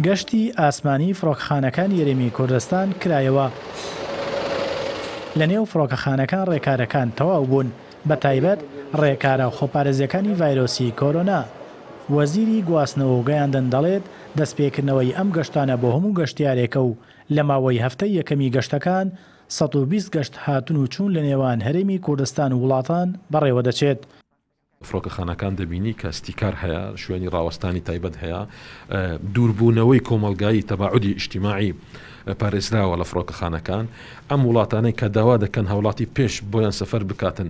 گەشتی ئاسمانی فڕۆکەخانەکانی هەرێمی کوردستان کرایەوە. لەنێو فڕۆکەخانەکان ڕێکارەکان تەواو بوون، بەتایبەت ڕێکارە خۆپارێزییەکانی ڤایرۆسی کۆرۆنا. وەزیری گواستنەوە و گەیاندن دەڵێت، دەستپێکردنەوەی ئەم گەشتانە بۆ هەموو گەشتیارێکە و لە ماوەی هەفتەی یەکەمی گەشتەکان 120 گەشت هاتن و چوون لەنێوان هەرێمی کوردستان و وڵاتان بەڕێوەدەچێت. فڕۆکەخانەکان دەبینی کە ستیکار هەیە، شوێنی ڕاوەستانی تایبەت هەیە، دووربوونەوەی کۆمەڵگایی تەباعودی ئیجتیماعی پارێزراوە لە فڕۆکەخانەکان. ئەم وڵاتانەی کە داوا دەکەن هاوڵاتی پێش بۆیان سەفەر بکاتن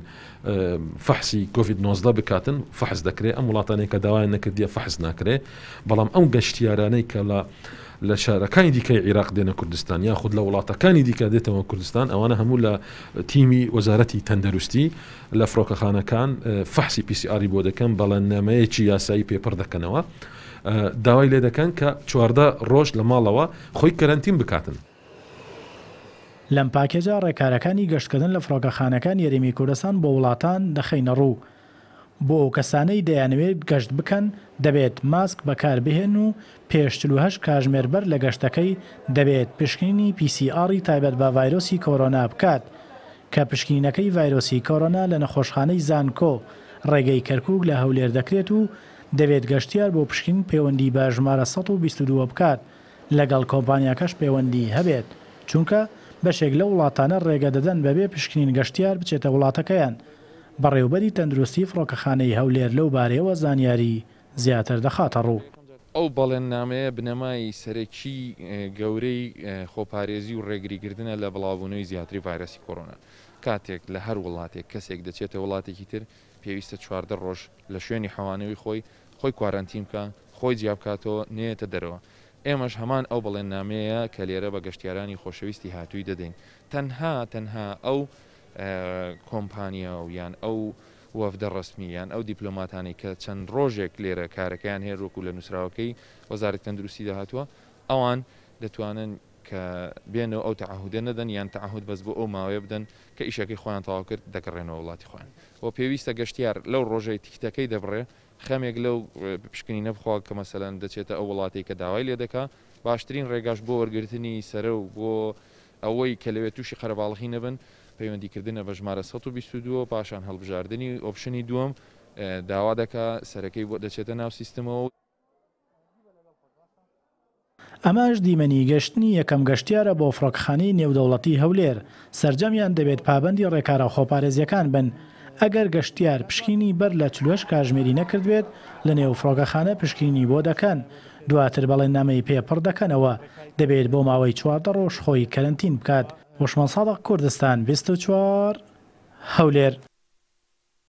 فەحسی کۆڤید 19 بکاتن فەحس دەکرێت، ئەم وڵاتانەی کە داوایان نەکردیە فەحس ناکرێت. بەڵام ئەم گەشتیارانەی کە لە لە شارەکانی دیکەی عیراق دێنە کوردستان یاخود لە وڵاتەکانی دیکە دێتەوە کوردستان ئەوانە هەموو لە تیمی وەزارەتی تەندروستی لە فڕۆکەخانەکان فەحسی پی سی ئاری بۆ دەکەن، بەڵێننامەیەکی یاسایی پێ پڕ دەکەنەوە، داوای لێ دەکەن کە 14 ڕۆژ لە ماڵەوە خۆی کەرەنتین بکاتن. لەم پاکێجە ڕێکارەکانی گەشتکردن لە فڕۆکەخانەکانی هەرێمی کوردستان بۆ وڵاتان دەخەینەڕوو. بۆ ئەو کەسانەی دەیانەوێت گەشت بکەن دەبێت ماسک بەکاربهێنن و پێش 48 کاژمێر بەر لە گەشتەکەی دەبێت پشکنینی پی سی ئاڕی تایبەت بە ڤایرۆسی کۆرۆنا بکات کە پشکنینەکەی ڤایرۆسی کۆرۆنا لە نەخۆشخانەی زانکۆ ڕێگەی کەرکوک لە هەولێر دەکرێت و دەبێت گەشتیار بۆ پشکنین پەیوەندی بە ژمارە 122 بکات لەگەڵ کۆمپانیاکەش پەیوەندی هەبێت چونکە بەشێک لەو وڵاتانە ڕێگە دەدەن بەبێ پشکنین گەشتیار بچێتە وڵاتەکەیان. بەڕێوبەری تەندروستی فڕۆکەخانەی هەولێر لەو بارەیەوە زانیاری زیاتر دەخاتەڕوو. ئەو بەڵێننامەیە بنەمای سەرەکی گەورەی خۆپارێزی و ڕێگریکردنە لە بڵاوبوونەوەی زیاتری ڤایرەسی کۆرۆنا. کاتێک لە هەر وڵاتێک کەسێک دەچێتە وڵاتێکی تر پێویستە 14 ڕۆژ لە شوێنی حەوانەوەی خۆی خۆی کوارەنتین بکا، خۆی جیا بکاتەوە، نەیەتە دەرەوە. ئێمەش هەمان ئەو بەڵێننامەیە کە لێرە بە گەشتیارانی خۆشەویستی هاتووی دەدەین. تەنها تەنها ئەو کۆمپانیا و یان ئەو وەفدە ڕەسمی یان ئەو دیپلۆماتانەی کە چەند ڕۆژێک لێرە کارەکەیان هەیە وەکو لە نووسراوەکەی وەزارەتی تەندروستیدا هاتووە ئەوان دەتوانن کە بێنەوە ئەو تەعەهودە نەدەن یان تەعەهود بەس بۆ ئەو ماوەیە بدەن کە ئیشەکەی خۆیان تەواو کرد دەگەڕێنەوە وڵاتی خۆیان و پێویستە گەشتیار لەو ڕۆژەی تیکتەکەی دەبڕێ خەمێک لەو پشکنینە بخوا کە مەسەلەن دەچێتە ئەو وڵاتەی کە داوای لێ دەکا باشترین ڕێگاش بۆ وەرگرتنی سەرە و بۆ ئەوەی کە لەوێ تووشی قەرەباڵغی نەبن، پەیوەندیکردنە بە ژمارە 122 و پاشان هەڵبژاردنی ئۆپشنی دووەم داوا دەکا سەرەکەی بۆ دەچێتە ناو سیستمەوە. ئەمەش دیمەنی گەشتنی یەکەم گەشتیارە بۆ فڕۆکەخانەی نێودەوڵەتی هەولێر، سەرجەمیان دەبێت پابەندی ڕێکارە خۆپارێزییەکان بن، ئەگەر گەشتیار پشکنینی بەر لە 48 کاژمێری نەکردبێت لەنێو فڕۆکەخانە پشکنینی بۆ دەکەن، دواتر بەڵێننامەی پێ پڕ دەکەنەوە، دەبێت بۆ ماوەی 14 ڕۆژ خۆی کەرەنتین بکات. هۆشمەند سادق، کوردستان 24، هەولێر.